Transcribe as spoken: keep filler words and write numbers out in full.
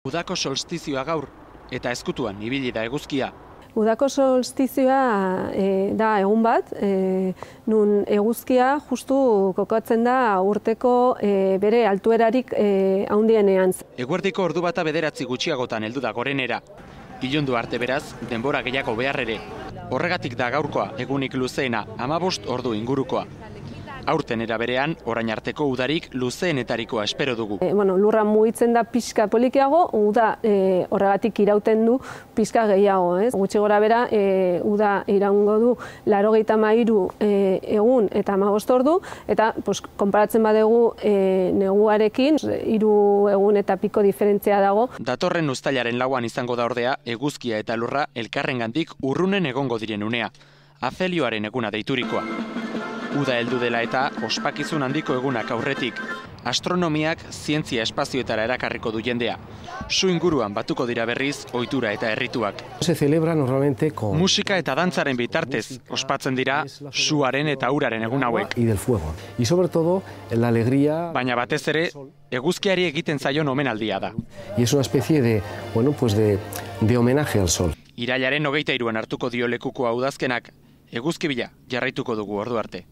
Udako solstizioa gaur, eta ezkutuan ibili da eguzkia. Udako solstizioa e, da egun bat, e, nun eguzkia justu kokatzen da urteko e, bere altuerarik e, handienean. Eguerdiko ordu bata bederatzi gutxiagotan heldu da gorenera. Ilundu arte beraz, denbora gehiago behar ere. Horregatik da gaurkoa egunik luzeena, hamabost ordu ingurukoa. Aurten era berean, orain arteko udarik luzeenetarikoa espero dugu. E, bueno, lurra mugitzen da pixka polikiago, uda e, horregatik irauten du pixka gehiago. Ez? Gutxi gora bera, e, uda iraungo du laurogeita hamairu e, egun eta hamabost ordu, eta pues, konparatzen badegu e, neguarekin, hiru egun eta piko diferentzia dago. Datorren uztailaren lauan izango da ordea, eguzkia eta lurra elkarrengandik urrunen egongo diren unea. Afelioaren eguna deiturikoa. Uda heldu dela eta ospakizun handiko egunak aurretik. Astronomiak zientzia espazioetara erakarriko du jendea. Su inguruan batuko dira berriz ohitura eta errituak. Se celebra normalmente con musika eta dantzaren bitartez ospatzen dira suaren eta uraren egun hauek. Y del fuego. Y sobre todo la alegría. Baina batez ere eguzkiari egiten zaion omenaldia da. Y es una especie de, bueno, pues de de homenaje al sol. Irailaren hogeita hiruan hartuko dio lekuko udazkenak. Eguzki bila jarraituko dugu ordu arte.